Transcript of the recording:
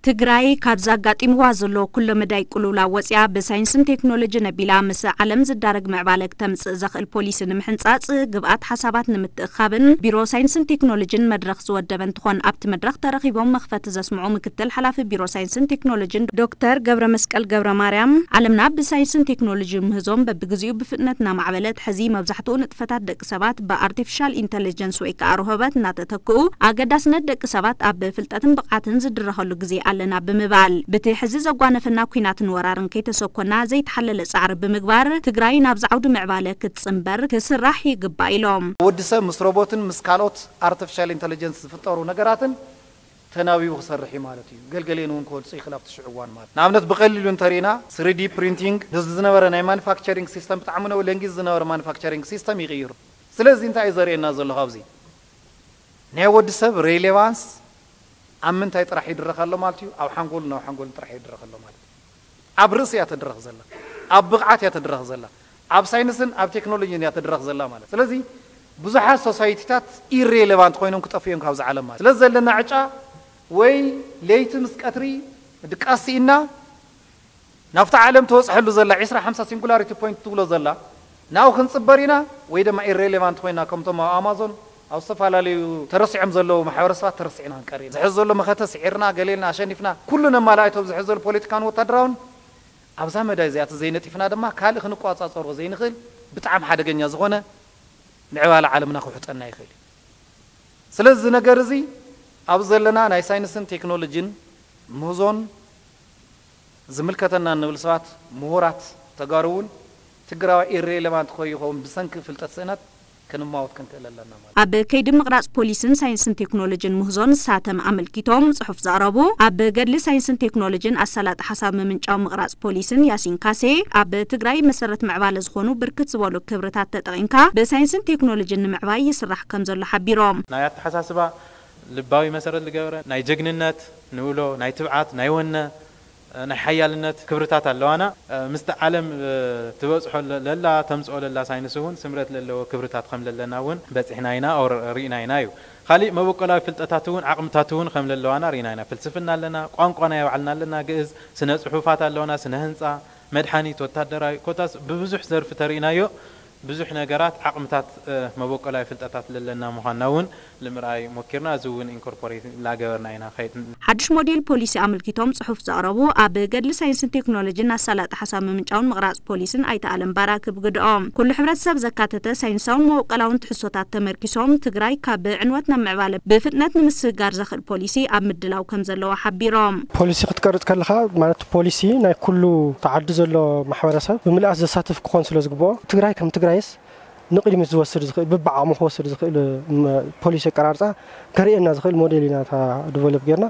ትግራይ ካብዚ ኣጋጢምዋ ዘሎ ኩሎ መዳይ ቅልውላው ወፂኣ ብሳይንስን ቴክኖሎጂን ኣቢላ ምስ ዓለም ዝዳረግ ምዕባለ ክተምፅእ ዘኽእል ፖሊሲ ንምሕንፃፅ ግብኣት ሓሳባት ንምትእኻብን ቢሮ ሳይንስን ቴክኖሎጂን መድረኽ ዝወደበ እንትኾን ኣብቲ መድረኽ ተረኺቦም መኽፈቲ ዘስምዑ ምክትል ሓላፊ ቢሮ ሳይንስን ቴክኖሎጂን ዶክተር ገብረ መስቀል ገብረ ማርያም ዓለምና ብሳይንስን ቴክኖሎጂ ምህዞም በብግዚኡ ብፍጥነት እናማዕበለት ሕዚ መብዛሕትኡ ንጥፈታት ደቂ ሰባት ብኣርቲፊሻል ኢንተለጀንስ ወይ ከዓ ርሆበት እናተተክኡ ኣገዳስነት ደቂ ሰባት ኣብ ፍልጠትን ብቕዓትን ዝድረኸሉ ግዜ ኣለና ብምባል ብቲ ሕዚ ዘጓነፈና ኲናትን ወራርን ከይተሰኮና ዘይተሓለለ ፃዕሪ ብምግባር ትግራይ ናብዚ ዓውዲ ምዕባለ ክትፅንበር ክስራሕ ይግባእ ኢሎም። ወዲ ሰብ ምስ ሮቦትን ምስ ካልኦት ኣርቲፊሻል ኢንተለጀንስ ዝፍጠሩ ነገራትን ተናቢቡ ክሰርሕ እዩ ማለት እዩ። ገልገሌን እውን ክወልፁ ይኽእል ኣብቲ ሽዑ እዋን ማለት። ንኣብነት ብቐሊሉ እንተሪእና ስሪዲ ፕሪንቲንግ፣ እዚ ዝነበረ ናይ ማኑፋክቸሪንግ ሲስተም፣ ብጣዕሚ ነው ለንጊዝ ዝነበረ ማኑፋክቸሪንግ ሲስተም ይቕይሩ። ስለዚ እንታይ እዩ ዘርእየና ዘሎ ካብዚ? ናይ ወዲ ሰብ ሬሌቫንስ ኣብ ምንታይ ጥራሕ ይድረኽ ኣሎ ማለት እዩ? ኣብ ሓንጎልን ኣብ ሓንጎልን ጥራሕ ይድረኽ ኣሎ ማለት እዩ። ኣብ ርእሲ እያ ተድረኽ ዘላ፣ ኣብ ብቕዓት እያ ተድረኽ ዘላ፣ ኣብ ሳይንስን ኣብ ቴክኖሎጂን እያ ተድረኽ ዘላ ማለት። ስለዚ ብዙሓት ሶሳይቲታት ኢሬሌቫንት ኮይኖም ክጠፍኡ እዮም ካብዚ ዓለም ማለት። ስለዚ ዘለና ዕጫ ወይ ለይቲ ምስ ቀትሪ ድቃስ ስኢና ናብታ ዓለም ተበፅሐሉ ዘላ ዒስራ ሓምሳ ሲንጉላሪቲ ፖይንት ትብሎ ዘላ ናብኡ ክንፅበር ኢና ወይ ድማ ኢሬሌቫንት ኮይና ከምቶም ኣብ ኣማዞን ኣብ ዝተፈላለዩ ተረሲዖም ዘለዉ ማሕበረሰባት ተረሲዕና ክንቀር ኢና። ዝሕዝ ዘሎ መኸተ ስዒርና ገሌልና ኣሸኒፍና ኩሉ ነማልኣይቶም ዝሕዝ ዘሎ ፖለቲካን ወታደራውን ኣብዛ መዳይ እዚኣ ዘይነጢፍና ድማ ካልእ ክንቋፃፀሮ ዘይንኽእል ብጣዕሚ ሓደገኛ ዝኾነ ምዕባለ ዓለምና ክውሕጠና ይኽእል እዩ። ስለዚ እዚ ነገር እዚ ኣብ ዘለና ናይ ሳይንስን ቴክኖሎጂን ምህዞን ዝምልከተና እንብል ሰባት ምሁራት ተጋሩ እውን ትግራዋይ ኢሬሌቫንት ከይኸውን ብሰንኪ ፍልጠት ስእነት ክንማወት ክንክእል ኣለና ማለት እዩ። ኣብ ከይዲ ምቕራፅ ፖሊስን ሳይንስን ቴክኖሎጂን ምህዞ ንሳተም ኣመልኪቶም ፅሑፍ ዘቕረቡ ኣብ ገድሊ ሳይንስን ቴክኖሎጂን ኣሳላጢ ሓሳብ ምምንጫው ምቕራፅ ፖሊስን ያሲን ካሴ ኣብ ትግራይ መሰረት ምዕባለ ዝኾኑ ብርክት ዝበሉ ክብርታት ተጠቒምካ ብሳይንስን ቴክኖሎጂን ንምዕባይ ይስራሕ ከም ዘሎ ሓቢሮም። ናይ ኣተሓሳስባ ልባዊ መሰረት ዝገበረ ናይ ጀግንነት ንብሎ ናይ ትብዓት ናይ ወነ ናይ ሓያልነት ክብርታት ኣለዋና። ምስቲ ዓለም ትበፅሖ ለላ ተምፅኦ ለላ ሳይንስ እውን ስምረት ለለዎ ክብርታት ከም ለለና እውን በፂሕና ኢና ኦር ርኢና ኢና እዩ። ካሊእ መበቆላዊ ፍልጠታት እውን ዓቕምታት እውን ከም ለለዋና ርኢና ኢና። ፍልስፍና ኣለና፣ ቋንቋና የባዕልና ኣለና፣ ግእዝ፣ ስነ ፅሑፋት ኣለዋና፣ ስነ ህንፃ፣ መድሓኒት፣ ወታደራዊ ኮታስ ብብዙሕ ዘርፊ ተርኢናዮ። ብዙሕ ነገራት ዓቕምታት መበቆላዊ ፍልጠታት ለለና ምዃንና እውን ንምርኣይ ሞኪርና። እዚ እውን ኢንኮርፖሬት ላገበርና ኢና ኸይድ። ሓድሽ ሞዴል ፖሊሲ ኣመልኪቶም ፅሑፍ ዘቕረቡ ኣብ ገድሊ ሳይንስን ቴክኖሎጂን ኣሳላጢ ሓሳብ ምምንጫውን ምቕራፅ ፖሊስን ኣይተ ኣለም ባራክ ብግድኦም ኩሉ ሕብረተሰብ ዘካተተ ሳይንሳውን መበቆላውን ትሕዝቶታት ተመርኪሶም ትግራይ ካብ ዕንወት ናብ ምዕባለ ብፍጥነት ንምስግጋር ዘኽእል ፖሊሲ ኣብ ምድላው ከም ዘለዋ ሓቢሮም። ፖሊሲ ክትቀርፅ ከለኻ ማለት ፖሊሲ ናይ ኩሉ ተዓዲ ዘሎ ማሕበረሰብ ብምልኣት ዘሳትፍ ክኾን ስለ ዝግብኦ ትግራይ ከም ትግራይስ ንቕድሚት ዝወስድ ዝኽእል ብብዓቕሙ ክወስድ ዝኽእል ፖሊሲ ኣቀራርፃ ከርእየና ዝኽእል ሞዴል ኢና እታ ዲቨሎፕ ጌርና።